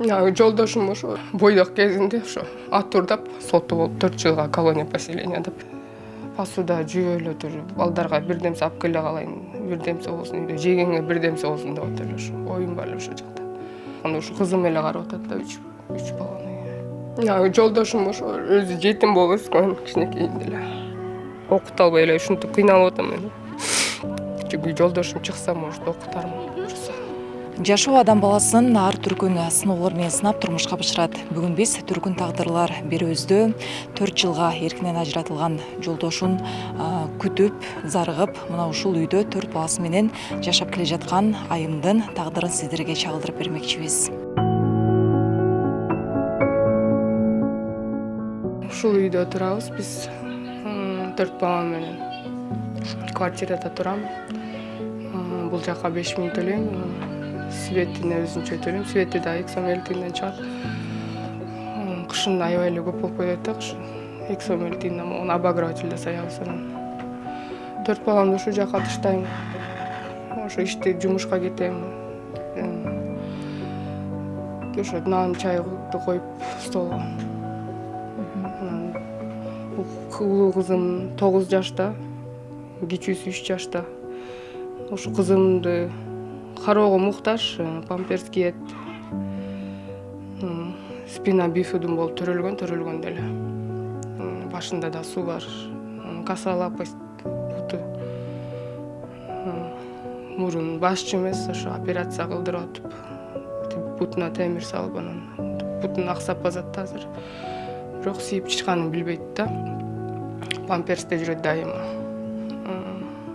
Жолдошум ошо бойдок кезинде ошо ат урдап соту болуп 4 жылга колония поселения деп. Посуда жүйө эле туруп, балдарга бирдемсе алып келе калайын, бирдемсе болсун, үйдө жегенге бирдемсе болсун деп атып эле ошо оюм бар эле ошол жакта. Анда ушу кызым эле карап атат да, 3 баланы. Жолдошум ошо өзү жетим болуп өскөн, кичинекейинде эле. Окута албай эле ушинтип кыйналып атам мен. Чүнкү жолдошум чыкса, может, окутармын. Жашоо адам баласын ар түркүн сыноолор менен сынап турмушка бышырат. Бүгүн биз түркүн тагдырлар берүүбүздө 4 жылга эркинен ажыратылган жолдошун күтүп, зарыгып, мына ушул үйдө 4 баласы менен жашап келе жаткан айымдын тагдырын сиздерге чагылдырып бермекчибиз. Ушул үйдө турабыз биз 4 балам менен. Квартирада турам. Бул жака 5000 төлөйм. Светине өзүнчө төлөйм. Свети да 2 сом 50 тиынден чыгат. Кышын аябай эле көп болуп кетет да, кышын 2 сом 50 тиынден могу обогревательде саябыз анан. 4 баламды ушул жака таштайм. Ошо иште жумушка кетем. Ошо нан, чайды коюп столго. Улуу кызым 9 жашта, кичүүсү 3 жашта. Ошо кызымды кароого муктаж, памперс кийет. Спина бифидум болуп төрөлгөн деле. Башында да суу бар. Касалапость буту. Мурун башчы эмес, ошо операция кылдырып атып, бутуна темир салып анан бутун аксап базат азыр. Бирок сийип чычканын билбейт да. Памперсте жүрөт дайыма.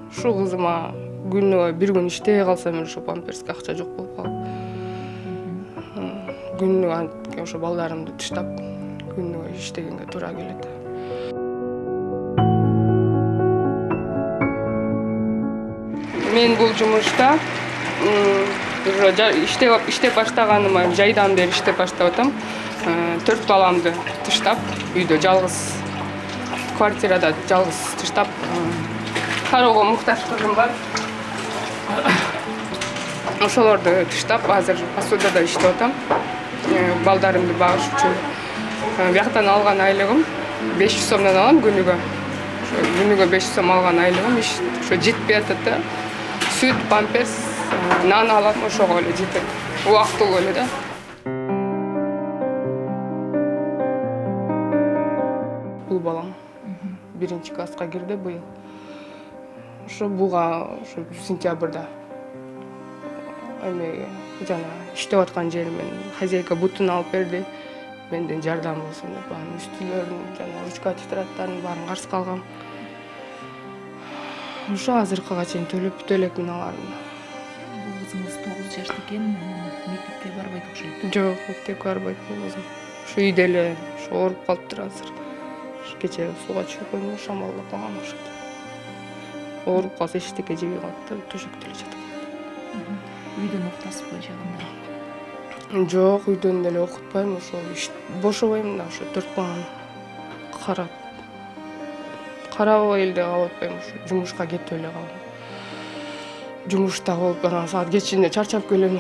Ушул кызыма күнүгө бир күн иштей калсам ошо памперске акча жок болуп калып. Күнүгө ошо балдарымды таштап, күнүгө иштегенге туура келет. Мен бул жумушта иштеп баштаганыма жайдан бери иштеп баштап атам. 4 баламды таштап, үйдө жалгыз, квартирада жалгыз таштап, кароого муктаж кызым бар. Ошолорду таштап, азыр посудада иштеп атам. Балдарымды багыш үчүн. Бияктан алган айлыгым 500 сомдон алам күнүгө. Күнүгө 500 сом алган айлыгым ошо жетпей атат да. Сүт, памперс, нан алам, ошого эле жетет. Убактылуу эле да. Бул балам 1-класска кирди быйыл. Ошо буга ошо сентябрда эмеге жана иштеп аткан жеримен хозяйка бутун алып берди. Менден жардам болсун деп, анын үстүлөрүн жана ручка тетрадтарын баарын карызга алгам. Ошо азыркыга чейин төлөп бүтө элекмин аларын. Бул кызыңыз 9 жашта экен, мектепке барбайт окшойт. Жок, мектепке барбайт бул кызым. Ошо үйдө эле ооруп калыптыр азыр. Кечээ сууга түшүп койдум, шамалдап калган окшойт. Ооруп калса эчтеке жебей калат да, төшөктө эле жатып калат. Үйдөн окутасызбы жагында? Жок, үйдөн деле окутпайм, ошо бошобойм да, ошо 4 баланы карабай эле калып атпайм, ошо жумушка кетип эле калам. Жумушта болуп анан саат кечинде чарчап келем.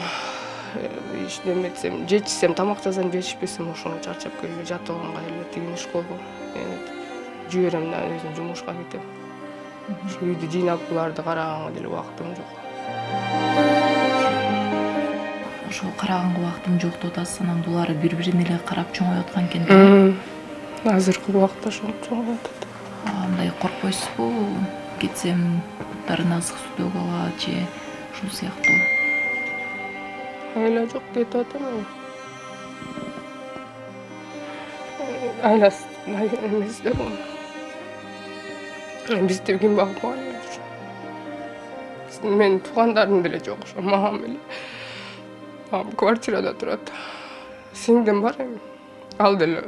Иштеметсем, жечсем, тамак жасам, жечпесем ошону чарчап келип жатып алганга эле тигин школго жиберем да, өзүм жумушка кетем. Ошо үйдү жыйнап буларды караганга деле убактым жок. Ошо караганга убактым жок деп атасыз, анан булар бири-бирине эле карап чоңоюп аткан экен да. Азыркы убакта ошентип чоңоюп атат. Андай коркпойсузбу? Кетсем буттарына ысык суу төгүп алат же ушул сыяктуу? Айла жок кетип атам. Айласы эмес да. Бизди ким багып койгон? Менин туугандарым деле жок, ошо мамам эле. Мамам квартирада турат. Сиңдим бар эми. Ал деле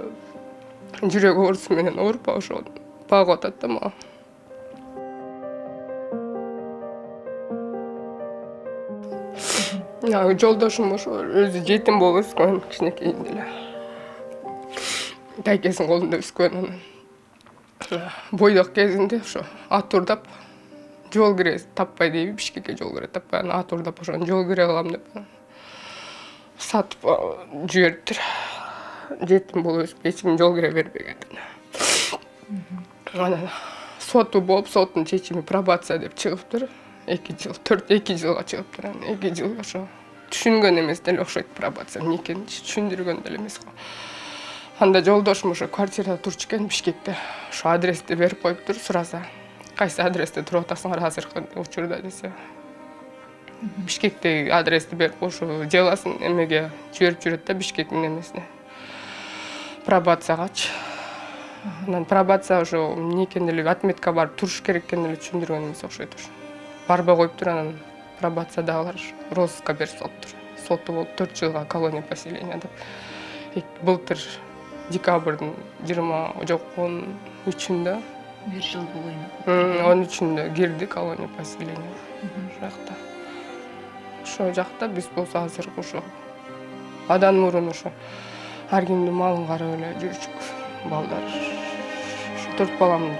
жүрөк оорусу менен ооруп, ошо багып атат да мага. Жолдошум ошо өзү жетим болуп өскөн, кичинекейинде эле. Тайкесинин колунда өскөн. Бойдок кезинде ошо ат урдап жол кире таппай дейби, Бишкекке жол кире таппай, ат урдап ошону жол кире кылам деп. сатып жибериптир. Жетим болуп өсүп эч ким жол кире бербеген. Анан соту болуп, соттун чечими пробация деп чыгыптыр. 2 жыл, 2 жылга чыгыптыр. 2 жыл ошо түшүнгөн эмес деле окшойт пробация эмне экенин түшүндүргөн деле эмес. Анда жолдошум ошо квартирада турчу экен Бишкекте. Ошо адрести берип коюптур, сураса. Кайсы адресте туруп атасыңар азыркы учурда десе. Бишкектеги адрести берип ошо деласын эмеге жиберип жүрөт да Бишкектин эмесине. Пробациягачы. Анан пробация ошо эмне экен деле отметка барып туруш керек экен деле түшүндүргөн эмес окшойт ошо. Барбай коюптур, анан пробациядагылар розыска берип салыптыр. Соту болуп 4 жылга колония поселения деп. Былтыр декабрдын 20 жок 13-үндө 1 жыл болойн. 13-үндө кирди колония поселения. Жакта. Ошо жакта биз болсо азыр ошо адан мурун ошо ар кимдин малын карап эле жүрчүк балдар. Ошо 4 баламды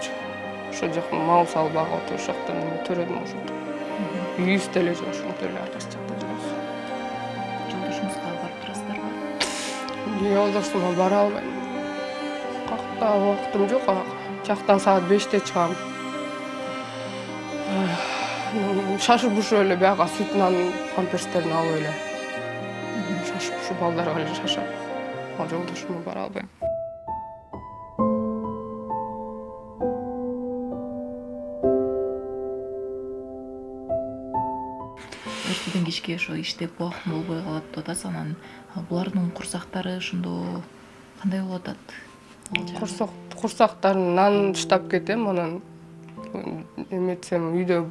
ошо жакта мал салып багып отуруп ошол жактан эме төрөдүм ошо. Үйүбүз деле жок, ошентип эле ар кайсы жакта жүрөбүз. Жолдошуңузга барып турасыздарбы? Жолдошума бара албайм. Какта убактым жок. Жактан саат 5-те чыгам. Шашып ушуп эле бияга сүт нан памперстерин алып эле. Шашып ушу балдарга эле шашам. Жолдошума бара албайм. Эртеден кечке ошо иштеп убактым болбой калат деп атасыз. Анан булардын курсактары ошондо кандай болуп атат? Курсактарын нан штап кетем, анан эметсем үйдө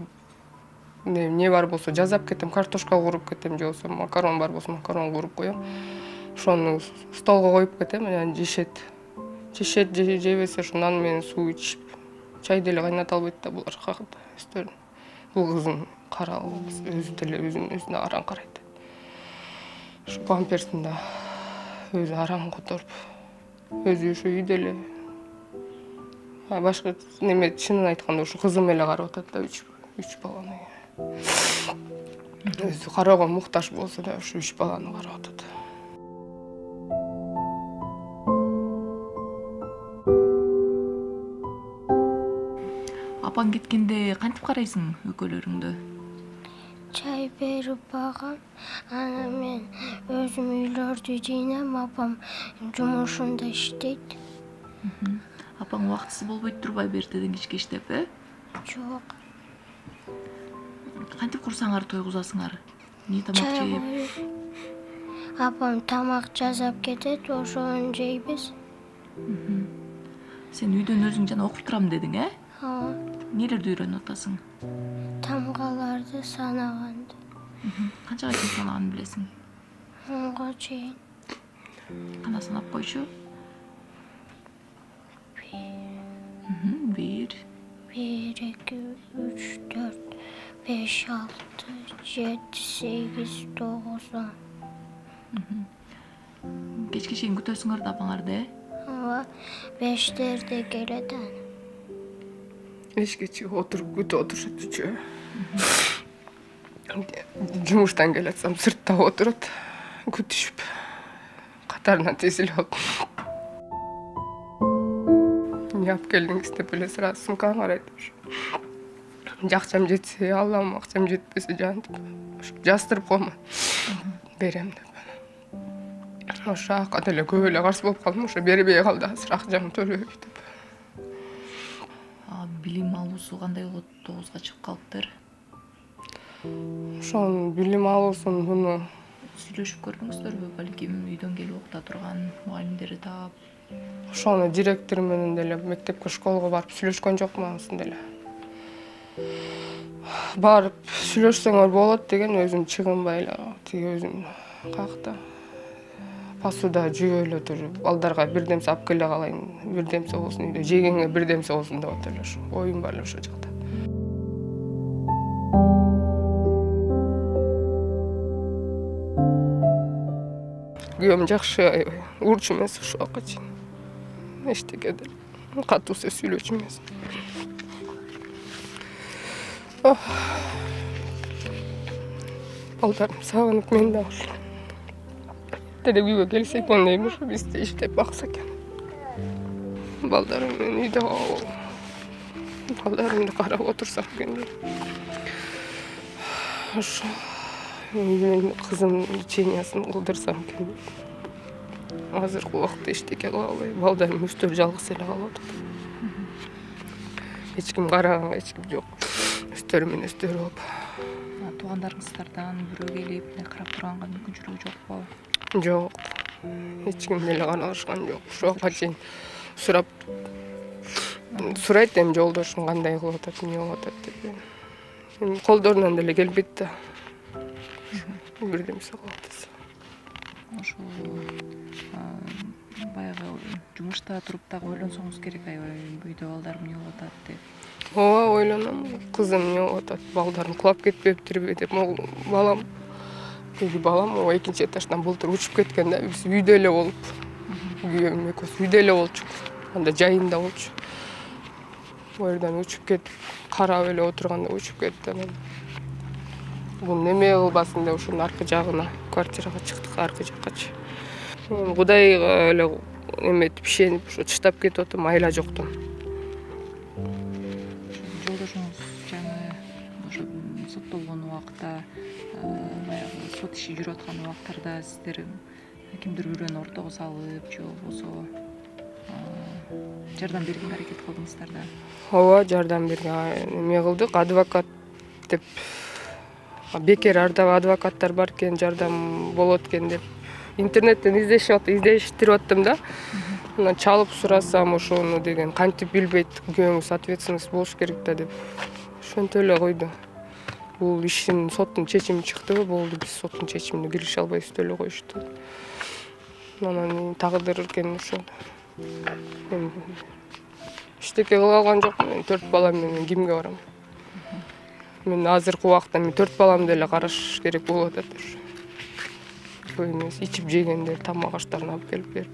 эмне бар болсо жазап кетем, картошка кууруп кетем, же болбосо макарон бар болсо макарон кууруп коем. Ошону столго коюп кетем, анан жешет, жебесе ошо нан менен суу ичип, чай деле кайната албайт да булар кагыт өздөрүн. Бул кызым каралып, өзү деле өзүнө араң карайт. Ошо памперсин да өзү араң которуп, өзү ошо үйдө эле. Башка неме чынын айтканда ошо кызым эле карап атат да 3 баланы. Өзү кароого муктаж болсо да ошо 3 баланы карап атат. Апаң кеткенде кантип карайсың экөөлөрүңдү? Чай берип багам, анан мен өзүм үйлөрдү жыйнам, апам жумушунда иштейт. Апаң убактысы болбойт турбайбы эртеден кечке иштеп, Жок. Кантип курсаңар тойгузасыңар? Эмне тамак жеп? Апам тамак жасап кетет, ошону жейбиз. Сен үйдөн өзүң жана окуп турам дедиң, Ооба. Нелерди үйрөнүп атасың? Тамгаларды санаганды. Канчага чейин санаганын билесиң? 10га чейин. Кана санап койчу? 1, 1, 2, 3, 4, 5, 6, 7, 8, 9, 10. Кечке чейин күтөсүңөр да апаңарды, Ооба. 5-терде келет аны. Эшикке отуруп күтүп отурушат үчөө. Жумуштан келатсам сыртта отурат, күтүшүп. Катарынан тизилип алып. Эмне алып келдиңиз деп эле сразу сумканы карайт. Акчам жетсе алам, акчам жетпесе жантип жастырып коймон. Берем деп. Ошо ака деле көп эле каршы болуп калдым, ошо бербей калды азыр акчамды төлөбөй деп. Билим алуусу кандай болот? 9га чыгып калыптыр. Ошонун билим алуусун буну Сүйлөшүп көрдүңүздөрбү? Балким үйдөн келип окута турган мугалимдери таап. Ошону директор менен деле мектепке, школго барып сүйлөшкөн жокмун анысын деле. Барып сүйлөшсөңөр болот деген өзүм чыгынбай эле тиги өзүм какта пасуда жүйө эле туруп, балдарга бирдемсе алып келе калайын, бирдемсе болсун үйдө, жегенге бирдемсе болсун деп атып эле ошо оюм бар эле ошо жакта. Күйөөм жакшы, урчу эмес ушул акка чейин. Эчтеке деле катуу сөз сүйлөөчү эмес. Балдарым сагынып мен да деле үйгө келсе экен дейм, ушу бизде иштеп бакса экен. Балдарым менен үйдө балдарымды карап отурсам экен дейм. Ошо мен кызымдын лечениясын кылдырсам экен. Азыркы убакытта эчтеке кыла албайм. Балдарым өздөрү жалгыз эле калып атат. Эч ким караганга эч ким жок. Өздөрү менен өздөрү болуп. Туугандарыңыздардан бирөө келип карап турганга мүмкүнчүлүгү жокпу? Жок. Эч ким деле карашкан жок. Ошого чейин сурайт эми жолдошум кандай кылып атат, эмне болуп атат деп. Эми колдорунан деле келбейт да. Бирдемсе кылып атса. Ошол баягы жумушта туруп дагы ойлонсоңуз керек, аябай үйдө балдарым эмне болуп атат деп. Ооба, ойлоном. Кызым эмне болуп атат, балдарым кулап кетпептирби деп. Могул балам, ооба экинчи этаждан былтыр учуп кеткен да. Биз үйдө эле болуп, күйөөм экөөбүз үйдө эле болчук. Анда жайында болчу. Бу жерден учуп кетип, карап эле отурганда учуп кетти. Анан бул неме кылбасын деп ушунун аркы жагына квартирага чыктык, аркы жаккачы. Кудайга эле эметип, ишенип, ушу чыдап кетип атам, айла жоктон. Жолдошуңуз жаңы ошо соттолгон убакта, баягы сот иши жүрүп аткан убактарда сиздер кимдир бирөөнү ортого салып же болбосо жардам бергенге аракет кылдыңыздар да? Ооба, жардам берген эме кылдык, адвокат деп. Бекер адвокаттар бар экен, жардам болот экен деп интернеттен издештирип аттым да. Анан чалып сурасам ошону деген, кантип билбейт, күйөөңүз ответственность болуш керек да деп. Ошентип эле койду. Бул иштин соттун чечими чыктыбы, болду, биз соттун чечимине кирише албайбыз деп эле коюшту. Анан тагдыр экен ошол. Эчтеке кыла алган жокмун. Мен 4 балам менен кимге барам? Мен азыркы убакта 4 баламды эле караш керек болуп атат. Ошо. Ичип жегендер тамак аштарын алып келип берип.